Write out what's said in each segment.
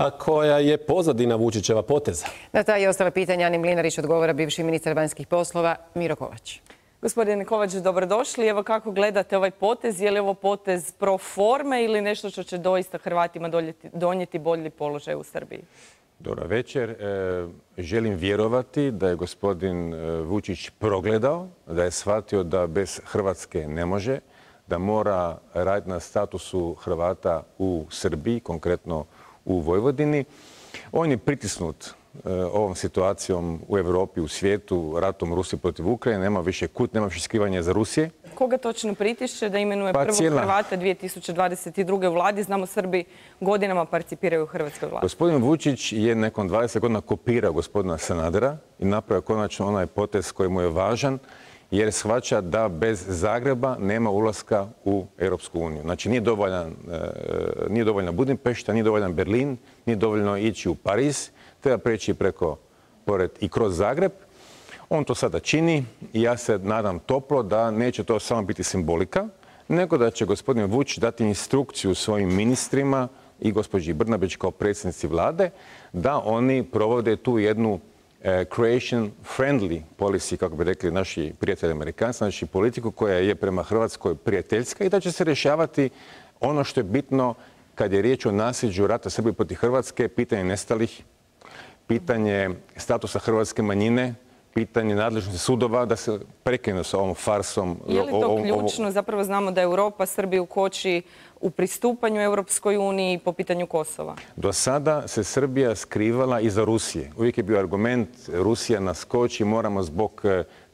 A koja je pozadina Vučićeva poteza? Na ta i ostala pitanja Ani Mlinarić odgovara bivši ministar vanjskih poslova Miro Kovač. Gospodine Kovač, dobrodošli. Evo kako gledate ovaj potez? Je li ovo potez pro forme ili nešto što će doista Hrvatima donijeti bolji položaj u Srbiji? Dobra večer. Želim vjerovati da je gospodin Vučić progledao, da je shvatio da bez Hrvatske ne može, da mora raditi na statusu Hrvata u Srbiji, konkretno u Vojvodini. On je pritisnut ovom situacijom u Europi, u svijetu, ratom Rusije protiv Ukrajine. Nema više kut, nema više skrivanja za Rusije. Koga točno pritišće da imenuje prvog Hrvata 2022. u vladi? Znamo, Srbi godinama participiraju u hrvatskoj vladi. Gospodin Vučić je nakon 20 godina kopirao gospodina Sanadera i napravio konačno onaj potez koji mu je važan, jer shvaća da bez Zagreba nema ulaska u Europsku uniju. Znači nije dovoljna Budimpešta, nije dovoljan Berlin, nije dovoljno ići u Pariz, treba preći pored i kroz Zagreb. On to sada čini i ja se nadam toplo da neće to samo biti simbolika, nego da će gospodin Vučić dati instrukciju svojim ministrima i gospođi Brnabić kao predsjednici vlade da oni provode tu jednu creation friendly policy, kako bi rekli naši prijatelji Amerikanci, znači politiku koja je prema Hrvatskoj prijateljska i da će se rješavati ono što je bitno kad je riječ o nasljeđu rata Srbije protiv Hrvatske, pitanje nestalih, pitanje statusa hrvatske manjine, pitanje nadležnosti sudova, da se prekine s ovom farsom. Je li to ključno? Zapravo znamo da Europa Srbiju koči u pristupanju Europskoj uniji po pitanju Kosova. Do sada se Srbija skrivala iza Rusije. Uvijek je bio argument Rusija nas koči, moramo zbog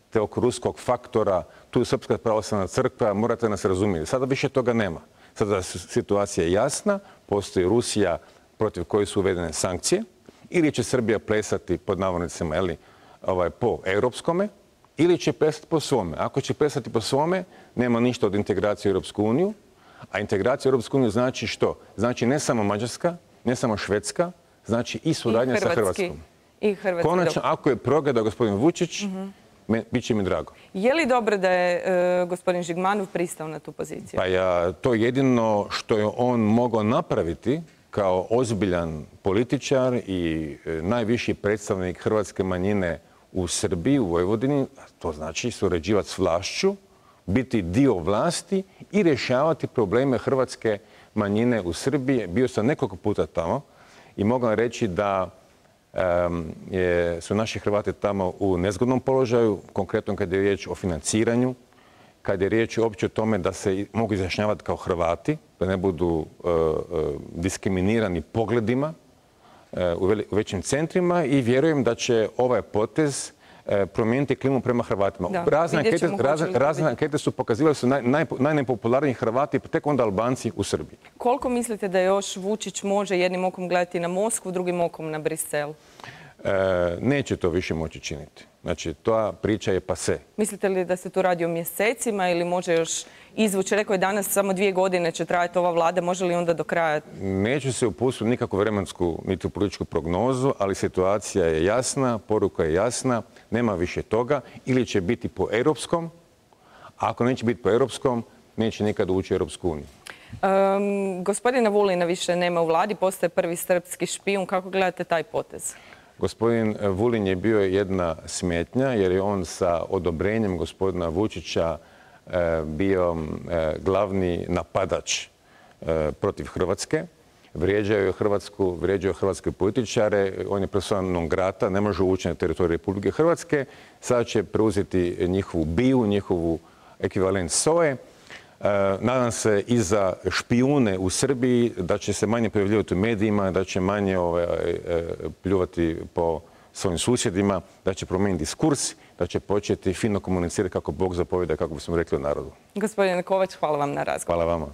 tog ruskog faktora, tu je Srpska pravoslavna crkva, morate nas razumjeti. Sada više toga nema. Sada situacija je jasna, postoji Rusija protiv koje su uvedene sankcije, ili će Srbija plesati pod navodnicima po europskome, ili će plesati po svome. Ako će plesati po svome, nema ništa od integracije u Europsku uniju, a integracija u Europsku uniju znači što? Znači ne samo Mađarska, ne samo Švedska, znači i suradnja sa Hrvatskom. Konačno, ako je progledao gospodin Vučić, bit će mi drago. Je li dobro da je gospodin Žigmanov pristao na tu poziciju? Pa to je jedino što je on mogao napraviti kao ozbiljan političar i najviši predstavnik hrvatske manjine u Srbiji, u Vojvodini, to znači surađivati s vlašću, biti dio vlasti i rješavati probleme hrvatske manjine u Srbiji. Bio sam nekoliko puta tamo i mogu reći da su naši Hrvati tamo u nezgodnom položaju, konkretno kad je riječ o financiranju, kad je riječ uopće o tome da se mogu izjašnjavati kao Hrvati, da ne budu diskriminirani pogledima u većim centrima i vjerujem da će ovaj potez promijeniti klimu prema Hrvatima. Razne ankete su pokazivale da su najnepopularniji Hrvati, tek onda Albanci u Srbiji. Koliko mislite da još Vučić može jednim okom gledati na Moskvu, drugim okom na Brisel? Neće to više moći činiti. Znači, ta priča je pase. Mislite li da se tu radi o mjesecima ili može još izvući? Rekao je danas samo 2 godine će trajati ova vlada. Može li onda do kraja? Neću se upustiti u nikakvu vremensku niti političku prognozu, ali situacija je jasna, poruka je jasna, nema više toga. Ili će biti po europskom, a ako neće biti po europskom, neće nikad ući u Europsku uniju. Gospodina Vulina više nema u vladi, postaje prvi srpski špijun. Kako gledate taj potez? Gospodin Vulin je bio jedna smetnja jer je on sa odobrenjem gospodina Vučića bio glavni napadač protiv Hrvatske. Vrijeđao je Hrvatsku, vrijeđao hrvatske političare, on je persona non grata, ne može ući na teritoriju Republike Hrvatske. Sada će preuzeti njihovu BIA, njihovu ekvivalent SOA-e. Nadam se i za špijune u Srbiji da će se manje pojavljivati u medijima, da će manje pljuvati po svojim susjedima, da će promijeniti diskurs, da će početi fino komunicirati kako Bog zapovjeda, kako bismo rekli u narodu. Gospodine Kovač, hvala vam na razgovor. Hvala vama.